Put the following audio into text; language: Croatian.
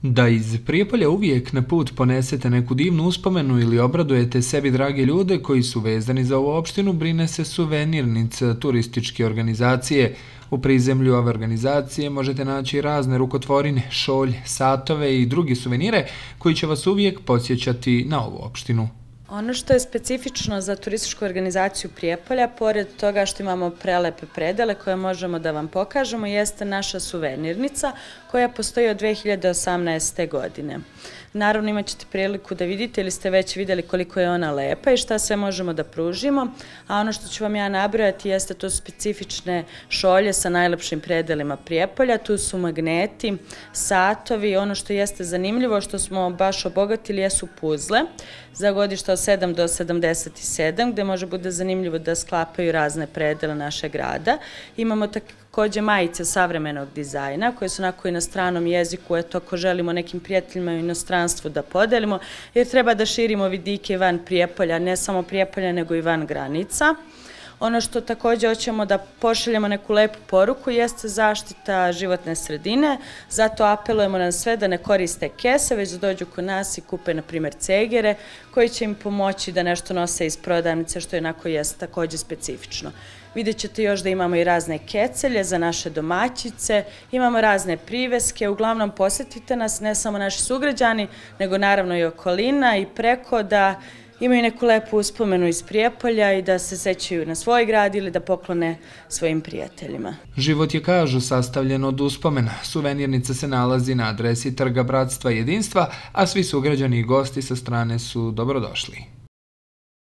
Da iz Prijepolja uvijek na put ponesete neku divnu uspomenu ili obradujete sebi drage ljude koji su vezani za ovu opštinu, brine se Suvenirnica turističke organizacije. U prizemlju ove organizacije možete naći razne rukotvorine, šolje, satove i druge suvenire koji će vas uvijek podsjećati na ovu opštinu. Ono što je specifično za turističku organizaciju Prijepolja, pored toga što imamo prelepe predele koje možemo da vam pokažemo, jeste naša suvenirnica koja postoji od 2018. godine. Naravno imat ćete priliku da vidite ili ste već vidjeli koliko je ona lepa i šta sve možemo da pružimo, a ono što ću vam ja nabrojati jeste to specifične šolje sa najlepšim predelima Prijepolja, tu su magneti, satovi, ono što jeste zanimljivo što smo baš obogatili jesu puzle za godišta od 7 do 77, gde može bude zanimljivo da sklapaju razne predele našeg grada. Imamo takođe majice savremenog dizajna koje su onako i na stranom jeziku, eto ako želimo nekim prijateljima u inostranstvu da podelimo, jer treba da širimo vidike van Prijepolja, ne samo Prijepolja nego i van granica. Ono što takođe hoćemo da pošaljemo neku lepu poruku jeste zaštita životne sredine, zato apelujemo na sve da ne koriste kese, već da dođu kod nas i kupe, na primjer, cegere, koji će im pomoći da nešto nose iz prodavnice, što jednako jeste takođe specifično. Vidjet ćete još da imamo i razne kecelje za naše domaćice, imamo razne priveske, uglavnom posetite nas, ne samo naši sugrađani, nego naravno i okolina i preko da imaju neku lepu uspomenu iz Prijepolja i da se sećaju na svoj grad ili da poklone svojim prijateljima. Život je, kažu, sastavljen od uspomena. Suvenirnica se nalazi na adresi Trga Bratstva i Jedinstva, a svi sugrađani i gosti sa strane su dobrodošli.